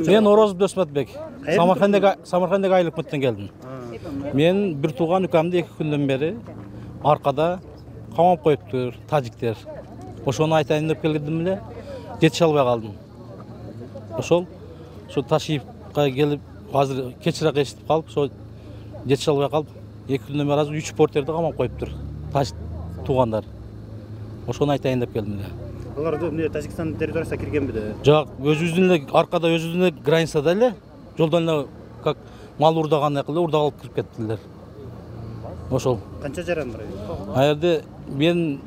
Мен Орозов Досматбек. Самаркандагы Айлыкмыттан келдим. Мен бир тууган укамды 2 күндөн бери аркада камап коюптур тажиктер. Ошону айтайын деп келдим эле, жетише албай калдым. Ошол Ташиевка келип, азыр кечирээк эшитип калып, ошо жетише албай калып, 2 күндөн бери азыр 3 портерди камап коюптур. Туугандар. Ошону айтайын деп келдим эле. Алар эмне Тажикстан территориясына киргенби де? Жок, өзүбүздүн эле аркада өзүбүздүн эле границада эле, жолдон эле как мал урдагандай кылып урдап кирип кеттилер. Ошол. Канча жаран бар? А жерде мен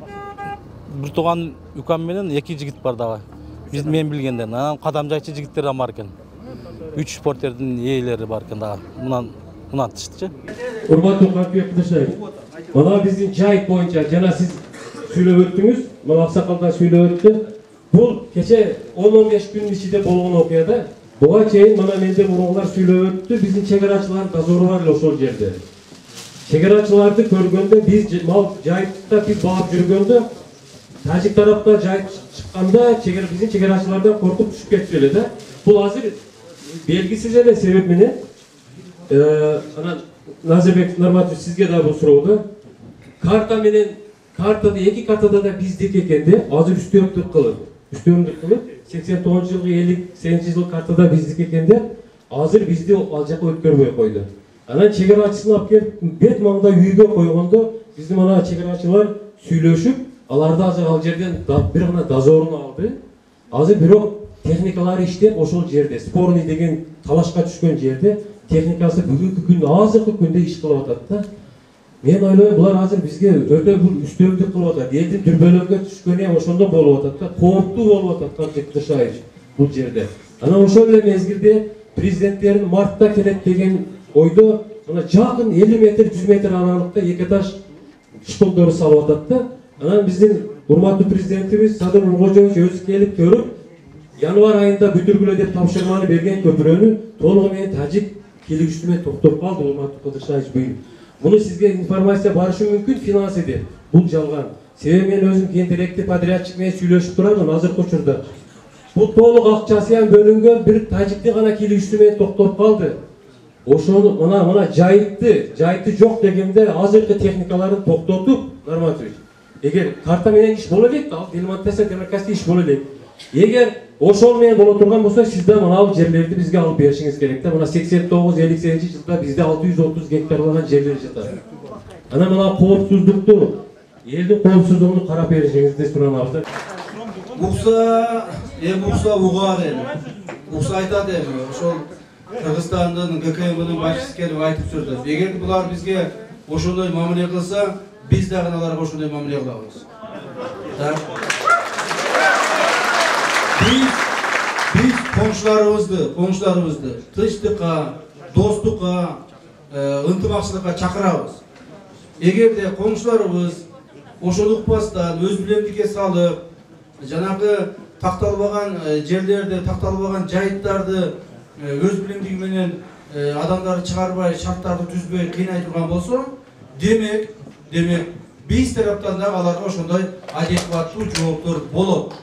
бир тууган укам менен 2 жигит бар дагы. Мен билгенден. Анан кадамжайчы жигиттер да бар экен. 3 портердин ээлери бар экен дагы. Мынан тыштычы. Урматтуу кардыштар, мына биздин жайыт боюнча жана сиз сүйлөп өттүңүз, мына аксакалдар сүйлөп өттү. Бул кече 10-15 күн ичинде болгон окуя да. Буга чейин мына менде мурункулар сүйлөп өттү, биздин чегарачылар дозору бар эле ошол жерде. Чегарачыларды көргөндө биз мал жайытта биз багып жүргөндө тажик тарапта жайыт чыкканда биздин чегарачылардан коркуп түшүп кетти эле да. Бул азыр белгисиз эле себеп менен анан Назарбек Нурматович сизге да бул суроодо карта менен картада 2 картада да биздики экен де, азыр үстөмдүк кылып 89-жылгы 58-жыл картада биздики экен де, азыр бизди ал жака өткөрбөй койду. Анан чегарачысын алып келип бет маңда үйгө койгондо биздин мына чегарачылар сүйлөшүп, аларды азыр ал жерден бир гана дозорун алды. Азыр бирок техникалары иштеп ошол жерде, спорный деген талашка түшкөн жерде техникасы бүгүнкү күндө азыркы күндө иш кылып атат да. Мен ойлойм, булар азыр бизге өтө бул үстөмдүк кылып атат. Элдин дүрбөлөккө түшкөнү ошондо болуп атат да, кооптуу болуп атат Кадыршаевич бул жерде. Анан ошол эле мезгилде президенттерин мартта келет деген ойдо мына жакын 50 метр, 100 метр аралыкта 2 этаж школдору салып атат да. Анан биздин урматтуу президентибиз Садыр Нуркожоевич өзү келип көрүп, январь айында бүтүргүлө деп тапшырманы берген көпүрөнү толугу менен тажик келишүүсү менен токтоп калды, урматтуу Кадыршаевич бuyur. Муну сизге информация барышы мүмкүн финансы деп. Бул жалган. Себеби мен өзүм кентеректи подрядчик менен сүйлөшүп турамын азыркы учурда. Бул толук акчасы ham бөлүнгөн бир тажиктин гана келишүүсү менен токтоп калды. Ошону мына жайыты жок дегенде азыркы техникаларын токтотуп, Нурматович. Эгер карта менен иш боло элек, ал делимитация демократия иш боло элек. Эгер ошол менен боло турган болсо, сиз да мына бул жерлерди бизге алып беришиңиз керек да. Мына 89-58-жылда бизде 630 гектарлаган жерлер жатат. Анан мына коопсуздукту, элдин коопсуздугун карап беришиңизди суранабыз. Укса угар эми. Укса айтат эми, ошол Кыргызстандын ГКМнын башчысы келип айтып жүрдү. Эгер булар бизге ошондой мамиле кылса, биз дагы аларга ошондой мамиле кылабыз. Biz koңшуларыбызды тынчтыкка, достукка, ынтымакчылыкка чакырабыз. Эгерде коңшуларыбыз ошону укпастан өз билемдикке салып, жанагы такталбаган жерлерди, такталбаган жайыттарды өз билемдиги менен адамдарды чыгарбай, шарттарды түзбөй кыйнай турган болсо, демек биз тараптан да аларга ошондой адекваттуу жооптор болот.